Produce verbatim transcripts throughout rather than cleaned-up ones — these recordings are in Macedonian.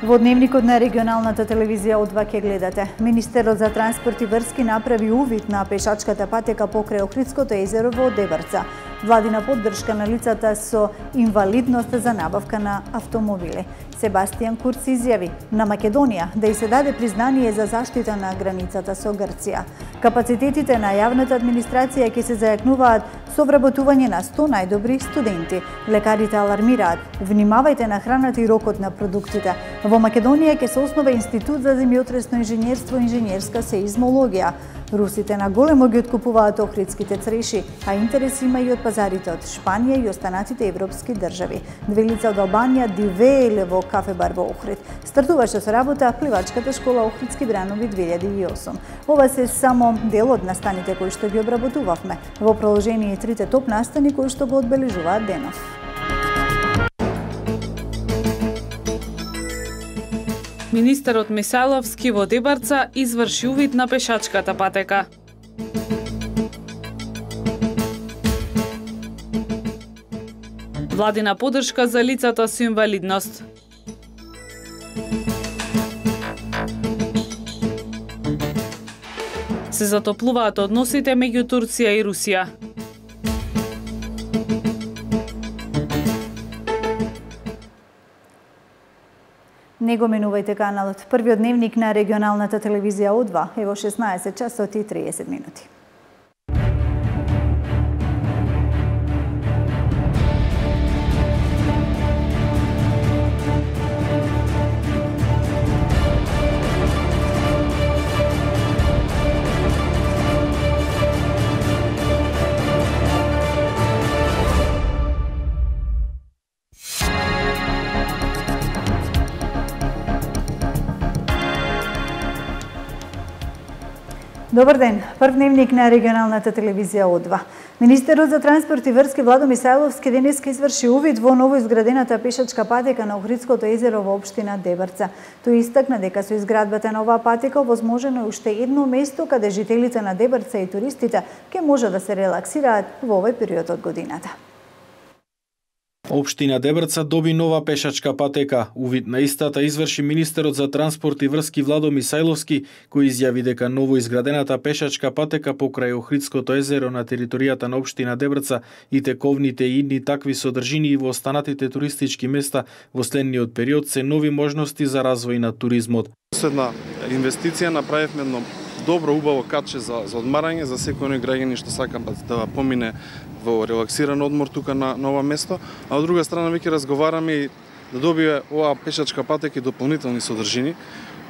Во дневникот на регионалната телевизија О два ќе гледате. Министерот за транспорт и врски направи увид на пешачката патека покрај Охридското езеро во Дебрца. Владина поддршка на лицата со инвалидност за набавка на автомобили. Себастијан Курц изјави на Македонија да и се даде признание за заштита на границата со Грција. Капацитетите на јавната администрација ќе се зајакнуваат со вработување на сто најдобри студенти. Лекарите алармираат: внимавајте на храната и рокот на продуктите. Во Македонија ќе се основа Институт за земјотресно инженерство и инженерска сеизмологија. Русите на големо ги откупуваат охридските цреши, а интерес има и од пазарите од Шпанија и останатите европски држави. Две лица од Албанија дивееле во кафе-бар во Охрид. Стартуваше со работа пливачката школа Охридски бранови две илјади и осум. Ова се само дел од настаните кои што ги обработувавме. Во продолжение трите топ настани кои што го одбележуваат денов. Министерот Мисајловски во Дебрца изврши увид на пешачката патека. Владина поддршка за лицата со инвалидност. Се затоплуваат односите меѓу Турција и Русија. Не го менувајте каналот. Првиот дневник на регионалната телевизија О два е во шеснаесет часот и триесет минути. Добар ден. Прв дневник на регионалната телевизија О два. Министерот за транспорт и врски Владо Мисајловски денеска изврши увид во новоизградената пешачка патека на Охридското езеро во општина Дебрца. Тој истакна дека со изградбата на оваа патека овозможено е уште едно место каде жителите на Дебрца и туристите ќе може да се релаксираат во овој период од годината. Општина Дебрца доби нова пешачка патека. Увид на истата изврши министерот за транспорт и врски Владо Мисајловски, кој изјави дека новоизградената пешачка патека покрај Охридското езеро на територијата на општина Дебрца и тековните и идни такви содржини и во останатите туристички места во следниот период се нови можности за развој на туризмот. Една инвестиција направивме едно добро, убаво катче за, за одмарање за секој оној граѓани што сака да помине во релаксиран одмор тука на, на ова место, а од друга страна веќе разговараме и да добие оваа пешачка патека и дополнителни содржини,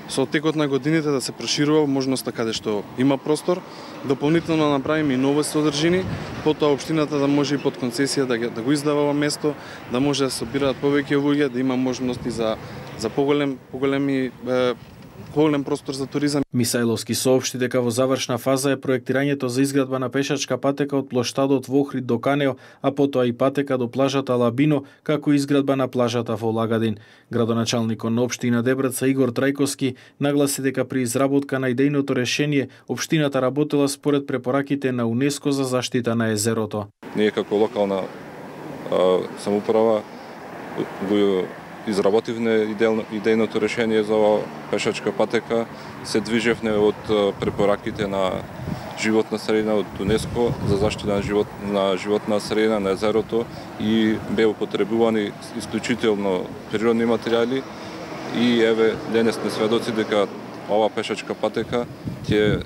со текот на годините да се проширува можноста каде што има простор, дополнително направиме и нови содржини, потоа општината да може и под концесија да, да го издава ова место, да може да собираат повеќе луѓе, да има можности за за поголем поголеми е, голем простор за туризам. Мисајловски соопшти дека во завршна фаза е проектирањето за изградба на пешачка патека од плоштадот во Охрид до Канео, а потоа и патека до плажата Лабино, како и изградба на плажата во Лагадин. Градоначалникот на општина Дебрца Игор Трајковски нагласи дека при изработка на идејното решение општината работела според препораките на УНЕСКО за заштита на езерото. Ние како локална а, самоуправа го изработивме идејното решение за оваа пешачка патека, се движевме од препораките на животна средина од УНЕСКО за заштита на живот на животна средина на езерото и беа употребувани исклучително природни материјали и еве денес сме сведоци дека оваа пешачка патека ќе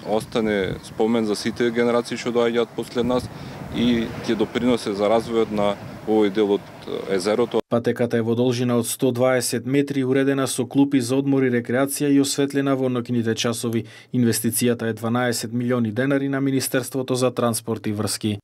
остане спомен за сите генерации што доаѓаат после нас и ќе доприносе за развојот на овој дел од езерото. Патеката е во должина од сто дваесет метри, уредена со клупи за одмор и рекреација и осветлена во ноќните часови. Инвестицијата е дванаесет милиони денари на Министерството за транспорт и врски.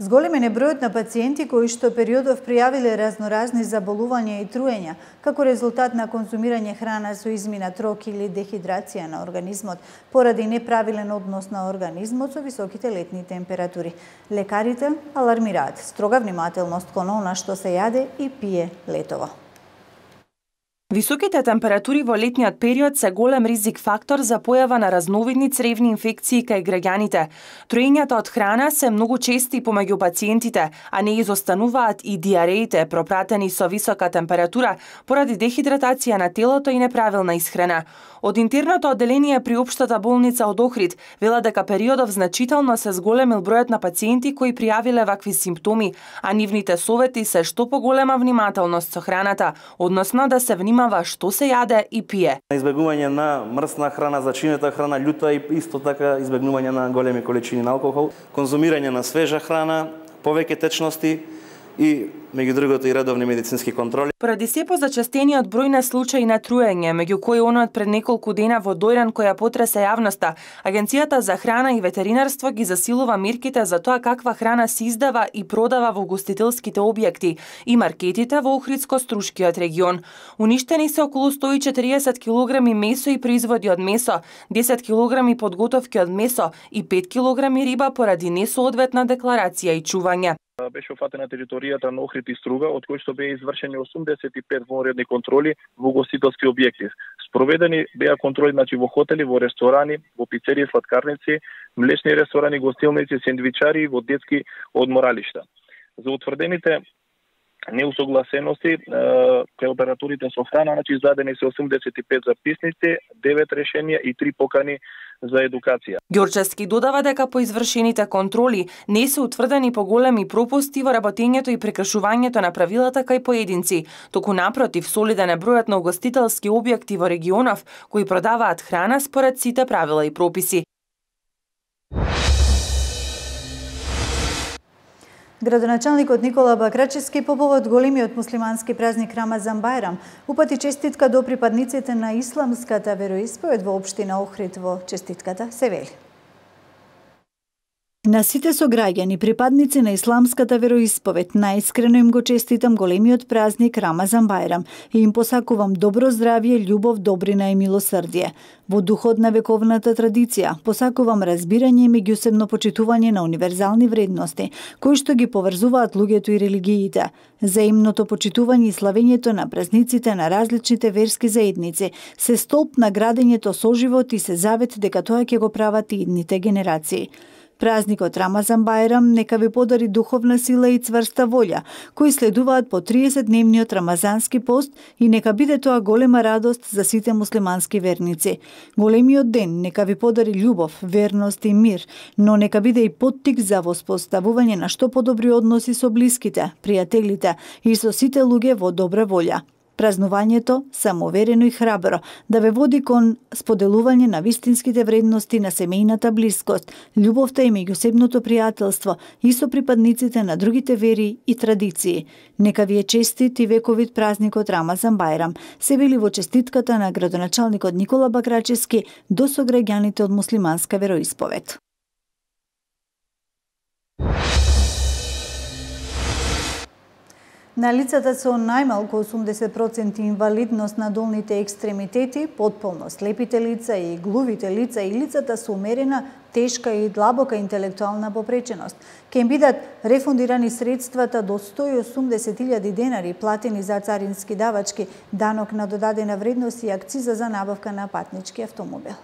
Зголемен е бројот на пациенти кои што периодов пријавиле разноразни заболувања и труења, како резултат на конзумирање храна со изминат рок или дехидрација на организмот, поради неправилен однос на организмот со високите летни температури. Лекарите алармираат строга внимателност кон она што се јаде и пие летово. Високите температури во летниот период се голем ризик фактор за појава на разновидни цревни инфекции кај граѓаните. Троењата од храна се многу чести помеѓу пациентите, а не изостануваат и диареите пропратени со висока температура поради дехидратација на телото и неправилна исхрана. Од интерното одделение при Општата болница од Охрид велат дека периодов значително се зголемил бројот на пациенти кои пријавиле вакви симптоми, а нивните совети се што поголема внимателност со храната, односно да се внимава што се јаде и пие. Избегнување на мрсна храна, зачинета храна, љута и исто така избегнување на големи количини на алкохол, конзумирање на свежа храна, повеќе течности и меѓу другото и редовни медицински контроли. Поради се позачестениот број на случаи на труење, меѓу кои оној пред неколку дена во Дојран која потресе јавноста, Агенцијата за храна и ветеринарство ги засилува мерките за тоа каква храна се издава и продава во угостителските објекти и маркетите во Охридско-Струшкиот регион. Уништени се околу сто и четириесет килограми месо и производи од месо, десет килограми подготовки од месо и пет килограми риба поради несоодветна декларација и чување. Беше офатена територијата на Охрид и Струга, од кои што беа извршени осумдесет и пет вонредни контроли во угостителски објекти. Спроведени беа контроли значи во хотели, во ресторани, во пицерии, сладкарници, млечни ресторани, гостилници, сендвичари и во детски одморалишта. За утврдените неусогласености кај операторите со храна, значи издадени се осумдесет и пет записници, девет решенија и три покани за едукација. Ѓорчевски додава дека по извршените контроли не се утврдени поголеми пропусти во работењето и прекршувањето на правилата кај поединци, туку напротив солиден е бројот на угостителски објекти во регионов кои продаваат храна според сите правила и прописи. Градоначалникот Никола Бакрачевски по повод големиот муслимански празник Рамазан Бајрам упати честитка до припадниците на исламската вероисповед во општина Охрид. Во честитката се вели: на сите сограѓани, припадници на исламската вероисповед, најискрено им го честитам големиот празник Рамазан Бајрам и им посакувам добро здравје, љубов, добрина и милосрдие. Во духот на вековната традиција, посакувам разбирање и меѓусебно почитување на универзални вредности, кои што ги поврзуваат луѓето и религиите. Заимното почитување и славењето на празниците на различните верски заедници се столб на градењето соживот и се завет дека тоа ќе го прават и идните генерации. Празникот Рамазан Бајрам нека ви подари духовна сила и цврста волја, кои следуваат по триесетдневниот рамазански пост и нека биде тоа голема радост за сите муслимански верници. Големиот ден нека ви подари љубов, верност и мир, но нека биде и поттик за воспоставување на што подобри односи со блиските, пријателите и со сите луѓе во добра волја. Празнувањето, самоуверено и храбро, да ве води кон споделување на вистинските вредности на семејната блискост, љубовта и меѓусебното пријателство и со припадниците на другите вери и традиции. Нека ви е честит и вековит празникот Рамазан Бајрам, се вели во честитката на градоначалникот Никола Бакрачевски до сограѓаните од муслиманска вероисповед. На лицата со најмалку осумдесет проценти инвалидност на долните екстремитети, потполно слепите лица и глувите лица и лицата со умерена, тешка и длабока интелектуална попреченост, ќе им бидат рефундирани средствата до сто и осумдесет илјади денари платени за царински давачки, данок на додадена вредност и акциза за набавка на патнички автомобил.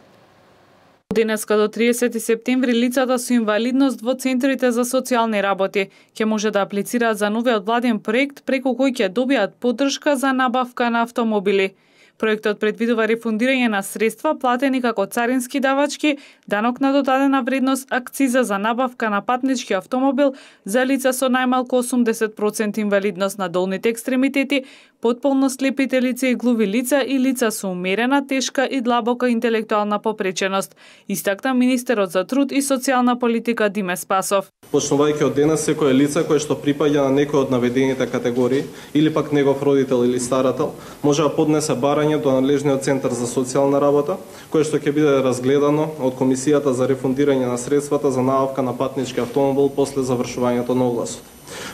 Денеска до триесети септември лицата со инвалидност во центрите за социјални работи ќе може да аплицираат за новиот владен проект преку кој ќе добијат поддршка за набавка на автомобили. Проектот предвидува рефундирање на средства платени како царински давачки, данок на додадена вредност, акциза за набавка на патнички автомобил за лица со најмалку осумдесет проценти инвалидност на долните екстремитети, потполно слепите лица и глуви лица и лица со умерена, тешка и длабока интелектуална попреченост, истакна министерот за труд и социјална политика Диме Спасов. Почнувајќи од денес, секое лице кое што припаѓа на некој од наведените категории или пак негов родител или старател, може да поднесе барање до надлежниот центар за социјална работа, кое што ќе биде разгледано од Комисијата за рефундирање на средствата за набавка на патнички автомобил после завршувањето на огласот.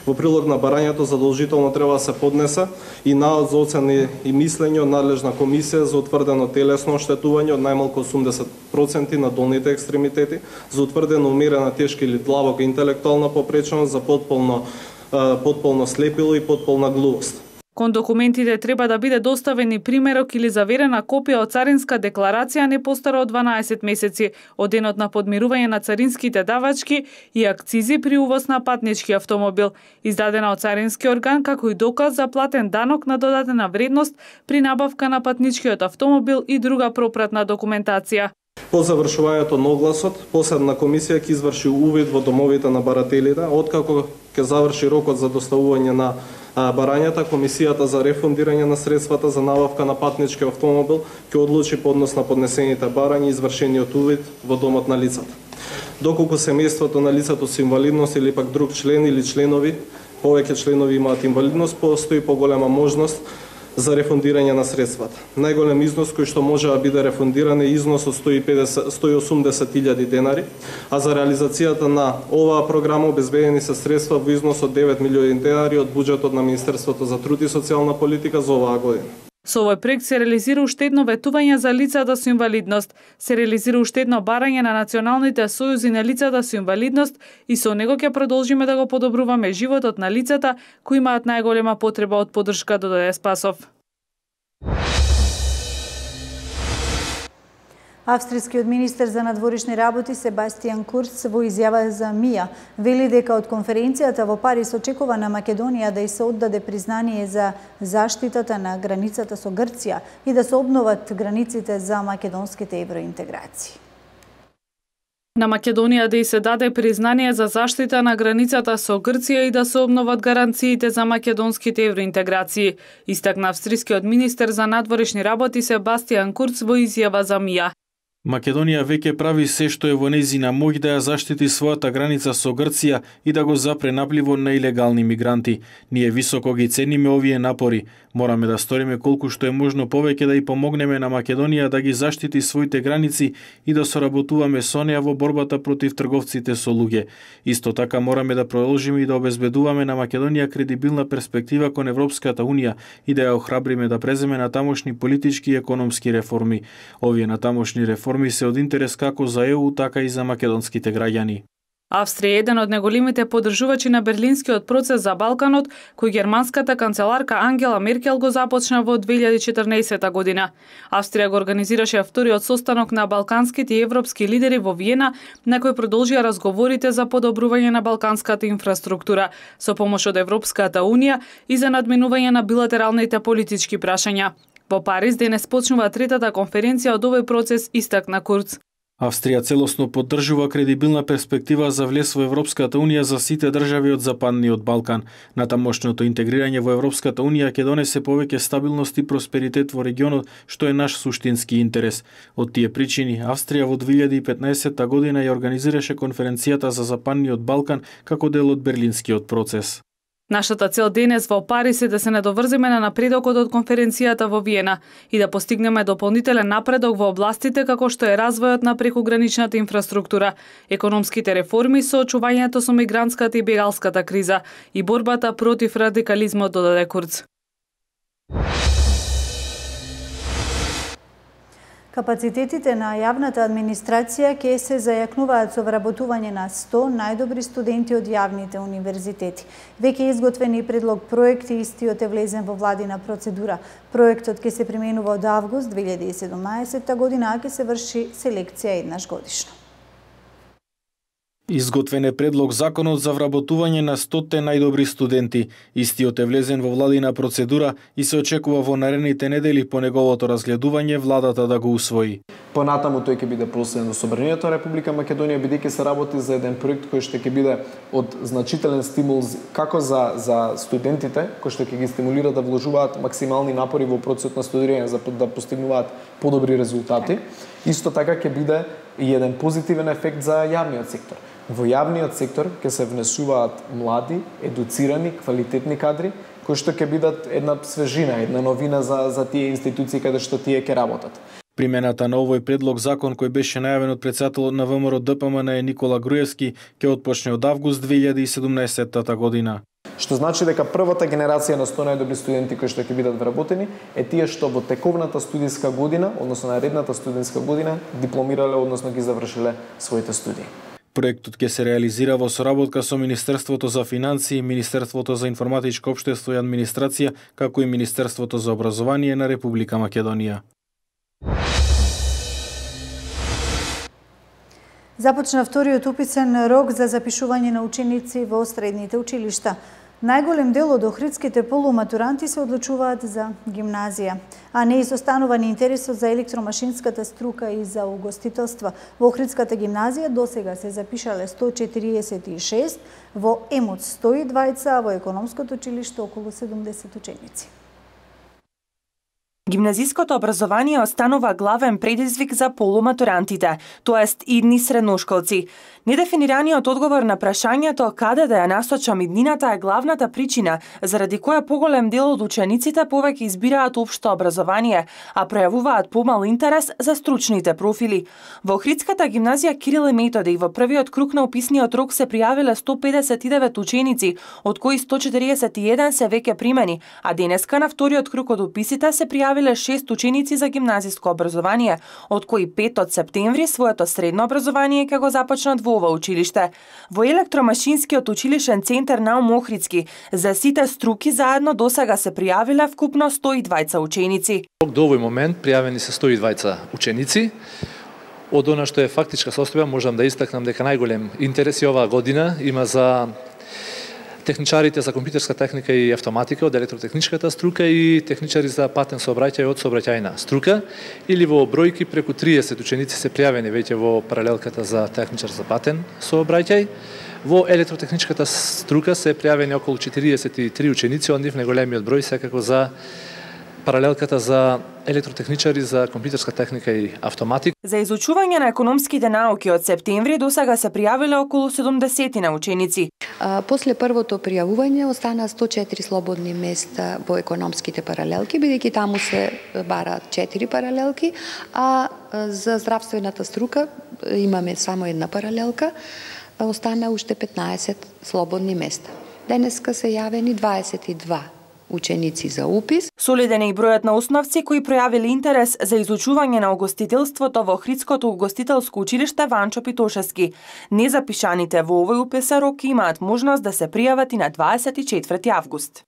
Во прилог на барањето задолжително треба да се поднесе и наод за оцени и мислење од надлежна комисија за утврдено телесно оштетување од најмалку осумдесет проценти на долните екстремитети, за утврдено умерена, тешка или длабока интелектуална попреченост, за потполно, потполно слепило и потполна глувост. Кон документите треба да биде доставени примерок или заверена копија од царинска декларација не постара од дванаесет месеци од денот на подмирување на царинските давачки и акцизи при увоз на патнички автомобил, издадена од царински орган како и доказ за платен данок на додадена вредност при набавка на патничкиот автомобил и друга пропратна документација. По завршувањето на огласот, посебна комисија ќе изврши увид во домовите на барателите, откако ќе заврши рокот за доставување на барањата, комисијата за рефундирање на средствата за набавка на патнички автомобил ќе одлучи по однос на поднесените барања и извршениот увид во домот на лицата. Доколку семејството на лицето со инвалидност или пак друг член или членови, повеќе членови имаат инвалидност, постои поголема можност за рефундирање на средствата. Најголем износ кој што може да биде рефундиран е износ од сто и педесет до сто и осумдесет илјади денари, а за реализацијата на оваа програма обезбедени се средства во износ од девет милиони денари од буџетот на Министерството за труд и социјална политика за оваа година. Со овој проект се реализира уште едно ветување за лицата со инвалидност, се реализира уште едно барање на националните сојузи на лицата со инвалидност и со него ќе продолжиме да го подобруваме животот на лицата кои имаат најголема потреба од поддршка, додаде Спасов. Австрискиот министер за надворешни работи Себастијан Курц во изјава за МИА вели дека од конференцијата во Париз очекува на Македонија да ѝ се оддаде признание за заштитата на границата со Грција и да се обноват границите за македонските евроинтеграции. На Македонија да ѝ се даде признание за заштита на границата со Грција и да се обноват гаранциите за македонските евроинтеграции, истакна австрискиот министер за надворешни работи Себастијан Курц во изјава за МИА. Македонија веќе прави се што е во нејзина моќ да ја заштити својата граница со Грција и да го запре напливот на илегални мигранти. Ние високо ги цениме овие напори. Мораме да сториме колку што е можно повеќе да и помогнеме на Македонија да ги заштити своите граници и да соработуваме со неа во борбата против трговците со луѓе. Исто така мораме да продолжиме и да обезбедуваме на Македонија кредибилна перспектива кон Европската унија и да ја охрабриме да преземе натамошни политички и економски реформи. Овие натамошни реформи се од интерес како за ЕУ, така и за македонските граѓани. Австрија е еден од најголемите поддржувачи на Берлинскиот процес за Балканот, кој германската канцеларка Ангела Меркел го започна во две илјади и четрнаесета година. Австрија го организираше вториот состанок на балканските и европски лидери во Виена, на кој продолжија разговорите за подобрување на балканската инфраструктура со помош од Европската унија и за надминување на билатералните политички прашања. Во Париз денес почнува третата конференција од овој процес, истакна Курц. Австрија целосно поддржува кредибилна перспектива за влез во Европската унија за сите држави од Западниот Балкан. Натамошното интегрирање во Европската унија ќе донесе повеќе стабилност и просперитет во регионот, што е наш суштински интерес. Од тие причини, Австрија во две илјади и петнаесета година ја организираше конференцијата за Западниот Балкан како дел од Берлинскиот процес. Нашата цел денес во Париз е да се надоврземе на напредокот од конференцијата во Виена и да постигнеме дополнителен напредок во областите како што е развојот на прекуграничната инфраструктура, економските реформи, соочувањето со мигрантската и бегалската криза и борбата против радикализмот, додаде Курц. Капацитетите на јавната администрација ќе се зајакнуваат со вработување на сто најдобри студенти од јавните универзитети. Веќе е изготвен и предлог проект и истиот е влезен во владина процедура. Проектот ќе се применува од август две илјади и седумнаесета година, а ќе се врши селекција еднаш годишно. Изготвен е предлог законот за вработување на стоте најдобри студенти. Истиот е влезен во владина процедура и се очекува во наредните недели по неговото разгледување владата да го усвои. Понатаму тој ќе биде проследен до Собранието на Република Македонија, бидејќи се работи за еден проект кој што ќе биде од значителен стимул како за за студентите, кои што ќе ги стимулира да вложуваат максимални напори во процесот на студирање за да постигнуваат подобри резултати. Исто така ќе биде и еден позитивен ефект за јавниот сектор. Во јавниот сектор ќе се внесуваат млади, едуцирани, квалитетни кадри, кои што ќе бидат една свежина, една новина за за тие институции каде што тие ќе работат. Примената на овој предлог закон кој беше најавен од претседателот на ВМРО Д П М Н Никола Груевски ќе отпочне од август две илјади и седумнаесета година. Што значи дека првата генерација на сто најдобри студенти кои што ќе бидат вработени е тие што во тековната студиска година, односно наредната студентска година, дипломирале, односно ги завршиле своите студии. Проектот ќе се реализира во соработка со Министерството за финансии, Министерството за информатичко општество и администрација, како и Министерството за образование на Република Македонија. Започна вториот уписен рок за запишување на ученици во средните училишта. Најголем дел од охридските полуматуранти се одлучуваат за гимназија, а не изостанува ни интересот за електромашинската струка и за угостителство. Во Охридската гимназија досега се запишале сто четириесет и шест, во ЕМУД сто и дваесет, а во економското училиште околу седумдесет ученици. Гимназиското образование останува главен предизвик за полуматурантите, тоест идни средношколци. Недефинираниот одговор на прашањето каде да ја насочам иднината е главната причина заради која поголем дел од учениците повеќе избираат општо образование, а пројавуваат помал интерес за стручните профили. Во Охридската гимназија Кирил и Методи во првиот круг на уписниот рок се пријавиле сто педесет и девет ученици, од кои сто четириесет и еден се веќе примени, а денеска на вториот круг од уписите се пријавиле шест ученици за гимназиско образование, од кои пет од септември своето средно образование ќе го започнат во ова училиште. Во електромашинскиот училишен центар Наум Охридски за сите струки заедно досега се пријавиле вкупно сто и дваесет ученици. До овој момент пријавени се сто и дваесет ученици. Од она што е фактичка состојба можам да истакнам дека најголем интерес оваа година има за техничарите за компјутерска техника и автоматика од електротехничката струка и техничари за патен сообраќај од сообраќајна струка, или во бројки преку триесет ученици се пријавени веќе во паралелката за техничар за патен сообраќај. Во електротехничката струка се пријавени околу четириесет и три ученици, од нив најголемиот број секако за паралелката за електротехничари за компјутерска техника и автоматика. За изучување на економските науки од септември досега се пријавиле околу седумдесет на ученици. А, после првото пријавување остана сто четири слободни места во економските паралелки, бидејќи таму се бараат четири паралелки, а за здравствената струка имаме само една паралелка, остана уште петнаесет слободни места. Денеска се јавени дваесет и два ученици за упис. Солиден е и бројот на основци кои пројавиле интерес за изучување на угостителството во Охридското угостителско училиште Ванчо Питошевски. Незапишаните во овој уписен рок имаат можност да се пријават и на дваесет и четврти август.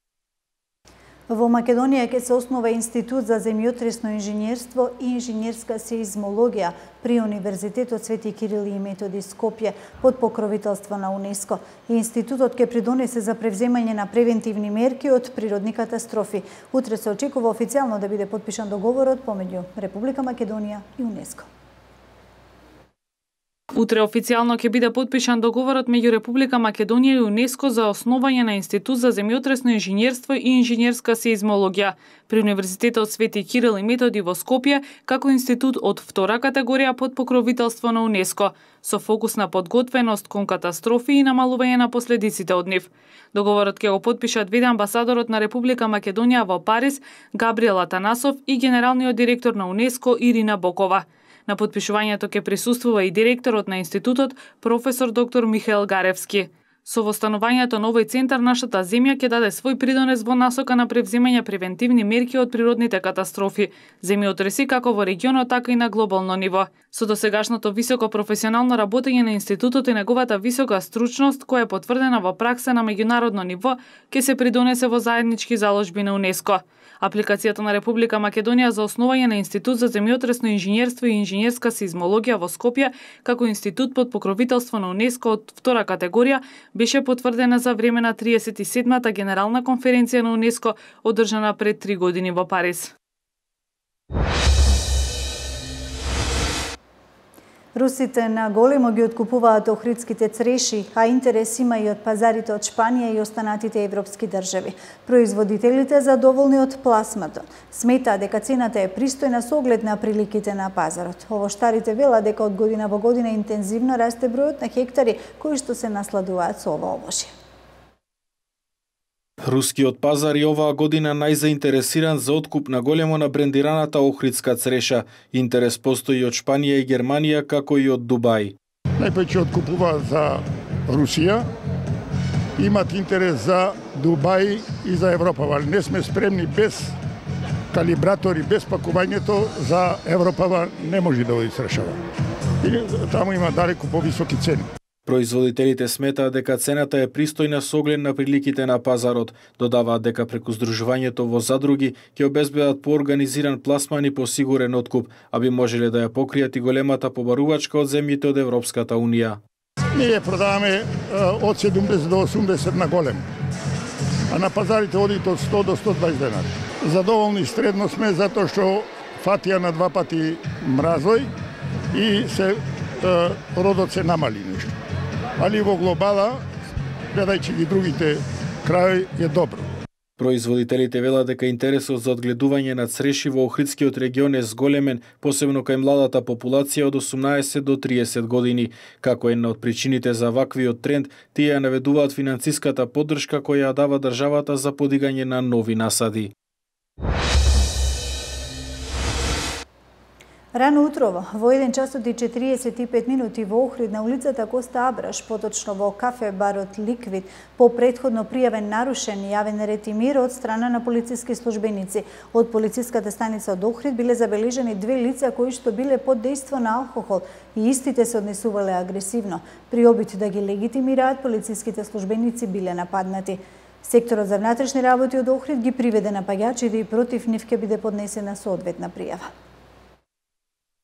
Во Македонија ќе се основа Институт за земјотресно инженерство и инженерска сеизмологија при Универзитетот Свети Кирил и Методи Скопје под покровителство на УНЕСКО. Институтот ќе придонесе за превземање на превентивни мерки од природни катастрофи. Утре се очекува официјално да биде потпишан договорот помеѓу Република Македонија и УНЕСКО. Утре официјално ќе биде потпишан договорот меѓу Република Македонија и УНЕСКО за основање на Институт за земјотресно инженерство и инженерска сеизмологија при Универзитетот Свети Кирил и Методи во Скопје, како институт од втора категорија под покровителство на УНЕСКО, со фокус на подготвеност кон катастрофи и намалување на последиците од нив. Договорот ќе го потпишат двете амбасадорот на Република Македонија во Париз, Габриел Атанасов, и генералниот директор на УНЕСКО Ирина Бокова. На потпишувањето ќе присуствува и директорот на институтот, професор доктор Михаел Гаревски. Со востанувањето на овој центар, нашата земја ќе даде свој придонес во насока на превземање превентивни мерки од природните катастрофи, земјотреси како во регионот, така и на глобално ниво. Со досегашното високо професионално работење на институтот и неговата висока стручност, која е потврдена во пракса на меѓународно ниво, ќе се придонесе во заеднички заложби на УНЕСКО. Апликацијата на Република Македонија за основање на Институт за земјотресно инженерство и инженерска сеизмологија во Скопје, како институт под покровителство на УНЕСКО од втора категорија, беше потврдена за време на триесет и седмата генерална конференција на УНЕСКО, одржана пред три години во Париз. Русите на големо ги откупуваат охридските цреши, а интерес има и од пазарите од Шпанија и останатите европски држави. Производителите задоволни од пласмато сметаат дека цената е пристојна со оглед на приликите на пазарот. Овоштарите велат дека од година во година интензивно расте бројот на хектари кои што се насладуваат со ова овошје. Рускиот пазар и оваа година најзаинтересиран за откуп на големо на брендираната охридска цреша. Интерес постои од Шпанија и Германија, како и од Дубај. Најпојќе откупуваат за Русија, имат интерес за Дубај и за Европа, али не сме спремни без калибратори, без пакувањето за Европа не може да го изрешава. И таму има далеку повисоки цени. Производителите сметаат дека цената е пристојна со оглед на приликите на пазарот. Додаваат дека преку здружувањето во задруги ќе обезбедат поорганизиран пласман и посигурен откуп, а би можеле да ја покријат и големата побарувачка од земјите од Европската Унија. Ние продаваме од седумдесет до осумдесет на голем, а на пазарите одите од сто до сто и дваесет денари. Задоволни средно сме затоа што фатија на два пати мразој и се родот се намали нешто. Али во глобала, гледајќи ги другите крајови, е добро. Производителите велат дека интересот за одгледување на цреши во Охридскиот регион е зголемен, посебно кај младата популација од осумнаесет до триесет години. Како една од причините за ваквиот тренд, тие ја наведуваат финансиската поддршка која ја дава државата за подигање на нови насади. Рано утрово, во еден часот и четириесет и пет минути во Охрид на улицата Коста Абраш, поточно во кафе барот Ликвид, по претходно пријавен нарушен јавен ред и мир од страна на полициски службеници. Од полициската станица од Охрид биле забележани две лица кои што биле под дејство на алкохол и истите се однесувале агресивно. При обид да ги легитимираат, полициските службеници биле нападнати. Секторот за внатрешни работи од Охрид ги приведе напаѓачите и против нив ќе биде поднесена соодветна пријава.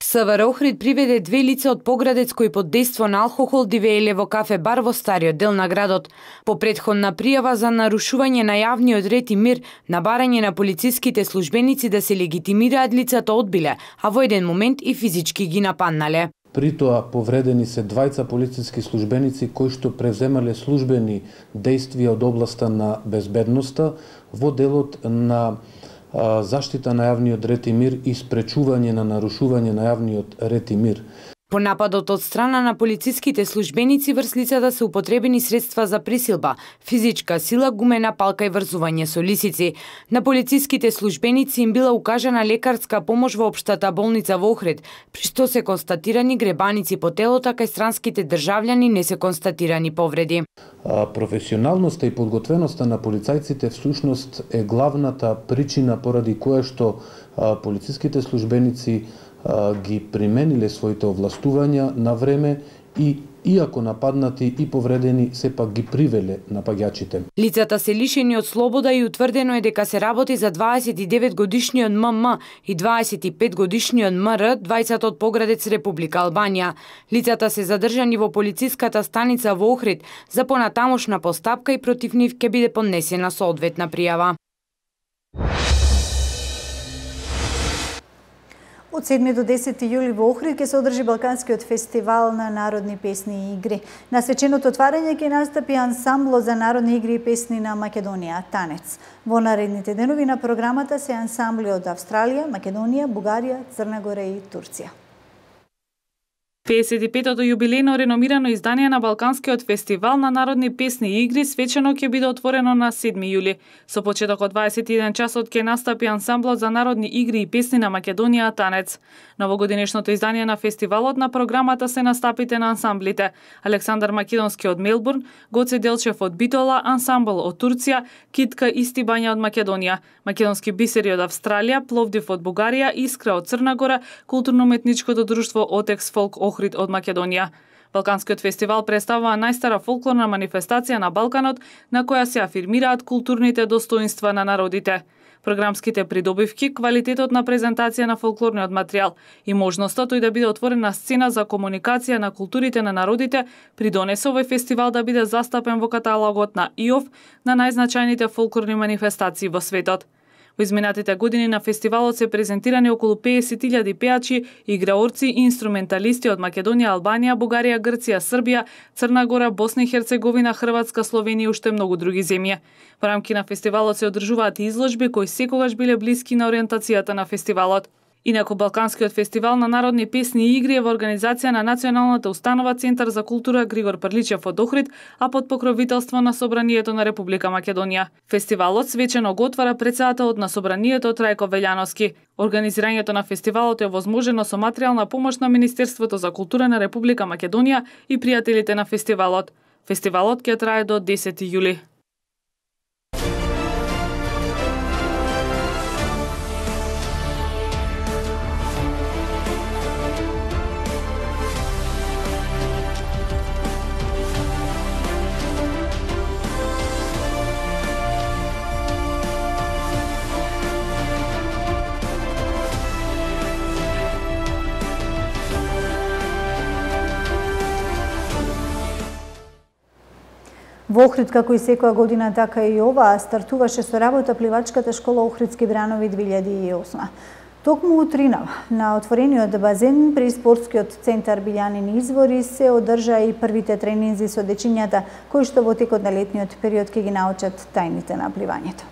СВР Охрид приведе две лица од Поградец кои под дејство на алкохол дивееле во кафе бар во стариот дел на градот. По претходна пријава за нарушување на јавниот ред и мир, на барање на полициските службеници да се легитимираат, лицата одбиле, а во еден момент и физички ги нападнале. При тоа повредени се двајца полициски службеници кои што превземале службени дејствија од областа на безбедноста во делот на заштита на јавниот ред и мир и спречување на нарушување на јавниот ред и мир. По нападот од страна на полициските службеници врз лицата се употребени средства за присилба, физичка сила, гумена палка и врзување со лисици. На полициските службеници им била укажана лекарска помош во општата болница во Охрид, при што се констатирани гребаници по телото, кај странските државјани не се констатирани повреди. Професионалноста и подготвеноста на полицајците всушност е главната причина поради која што полициските службеници ги примениле своите овластувања на време и иако нападнати и повредени, сепак ги привеле напаѓачите. Лицата се лишени од слобода и утврдено е дека се работи за дваесет и девет годишниот М М и дваесет и пет годишниот М Р, двајцата од Поградец, Република Албанија. Лицата се задржани во полициската станица во Охрид за понатамошна постапка и против нив ќе биде поднесена соодветна пријава. Од седми до десети јули во Охрид ќе се одржи Балканскиот фестивал на народни песни и игри. На свеченото отварање ќе настапи ансамблот за народни игри и песни на Македонија Танец. Во наредните денови на програмата се ансамбли од Австралија, Македонија, Бугарија, Црна Гора и Турција. педесет и петото јубилејно реномирано издание на Балканскиот фестивал на народни песни и игри свечено ќе биде отворено на седми јули. Со почеток од дваесет и еден часот ќе настапи ансамблот за народни игри и песни на Македонија Танец. Новогодинешното издание на фестивалот на програмата се настапите на ансамблите Александар Македонски од Мелбурн, Гоце Делчев од Битола, ансамбл од Турција, Китка Истибања од Македонија, Македонски бисери од Австралија, Пловдив од Бугарија, Искра од Црна Гора, Културно-уметничкото друштво Отекс Фолк Охрид од Македонија. Балканскиот фестивал представува најстара фолклорна манифестација на Балканот, на која се афирмираат културните достоинства на народите. Програмските придобивки, квалитетот на презентација на фолклорниот материјал и можноста тој да биде отворена сцена за комуникација на културите на народите придонесе овој фестивал да биде застапен во каталогот на И О Ф на најзначајните фолклорни манифестации во светот. Во изминатите години на фестивалот се презентирани околу педесет илјади пеачи, играорци и инструменталисти од Македонија, Албанија, Бугарија, Грција, Србија, Црна Гора, Босна и Херцеговина, Хрватска, Словенија и уште многу други земји. Во рамки на фестивалот се одржуваат и изложби кои секогаш биле блиски на ориентацијата на фестивалот. Инаку Балканскиот фестивал на народни песни и игри е во организација на Националната установа Центар за култура Григор Прличев од Охрид, а под покровителство на Собранието на Република Македонија. Фестивалот свечено го отвара претседателот на Собранието Трајко Велјановски. Организирањето на фестивалот е возможено со материјална помош на Министерството за култура на Република Македонија и пријателите на фестивалот. Фестивалот ќе трае до десети јули. Во Охрид, како и секоја година, така и ова, стартуваше со работа пливачката школа Охридски бранови две илјади и осма. Токму утринава, на отворениот базен при спортскиот центар Билјанини извори се одржа и првите тренинзи со дечињата, кои што во текот на летниот период ќе ги научат тајните на пливањето.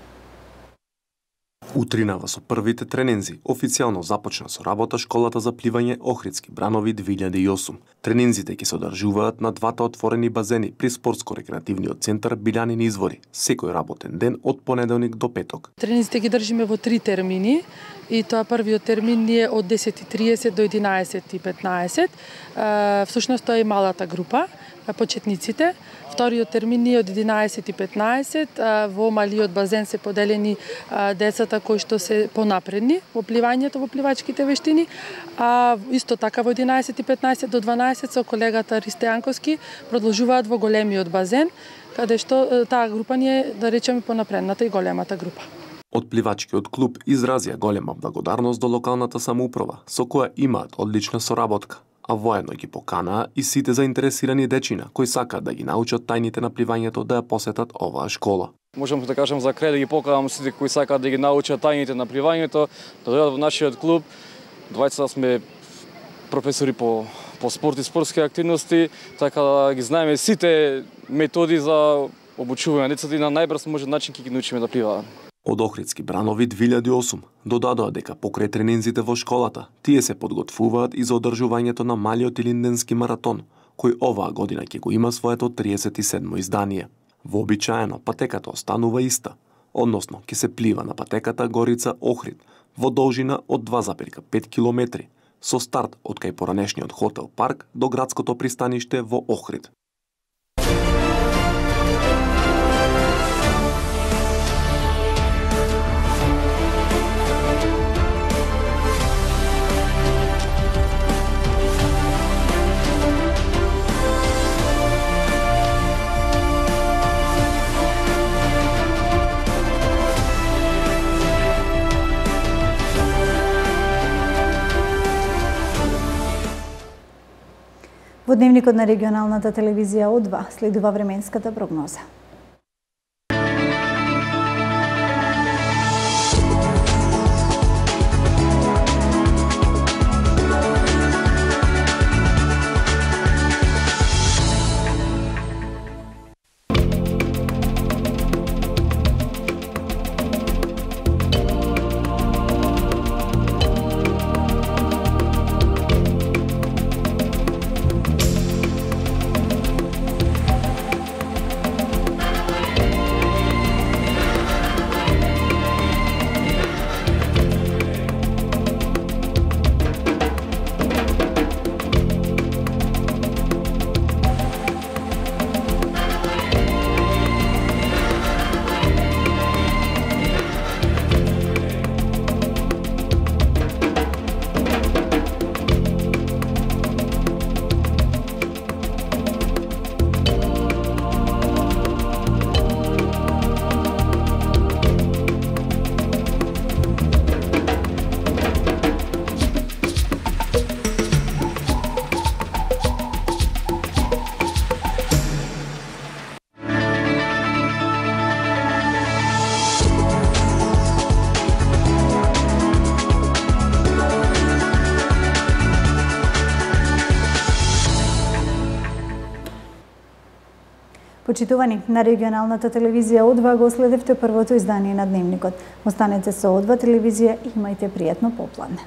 Утринава со првите тренинзи официјално започна со работа школата за пливање Охридски бранови две илјади и осум. Тренинзите ќе се одржуваат на двата отворени базени при спортско-рекреативниот центар Билјанини извори, секој работен ден од понеделник до петок. Тренинзите ги држиме во три термини и тоа првиот термин е од десет и триесет до единаесет и петнаесет. Всушност тоа е малата група, почетниците. Вториот термин е од единаесет и петнаесет. Во малиот базен се поделени децата кои што се понапредни во пливањето, во пливачките вештини. А исто така во единаесет и петнаесет до дванаесет со колегата Ристе Јанковски продолжуваат во големиот базен, каде што таа група ни е, да речеме, понапредната и големата група. Од пливачкиот клуб изразија голема благодарност до локалната самоуправа, со која имаат одлична соработка, а воедно ги поканаа и сите заинтересирани дечина кои сакаат да ги научат тајните на пливањето да ја посетат оваа школа. Можам да кажам за крај да ги поканам сите кои сакаат да ги научат тајните на пливањето, да дојдат во нашиот клуб. Двајца сме професори по по спорт и спортски активности, така да ги знаеме сите методи за обучување на децата и на најбрз можен начин ќе ги научиме да пливаат. Од Охридски бранови две илјади и осум додадоа дека покрај тренинзите во школата, тие се подготвуваат и за одржувањето на малиот илинденски маратон, кој оваа година ќе го има своето триесет и седмо издание. Вообичаено патеката останува иста, односно ќе се плива на патеката Горица Охрид во должина од два запирка пет километри, со старт од кај поранешниот хотел Парк до градското пристаниште во Охрид. Во дневникот на регионалната телевизија О два следува временската прогноза. Почитувани, на регионалната телевизија О два го следевте првото издание на Дневникот. Останете со О два телевизија и имајте пријатно попладне.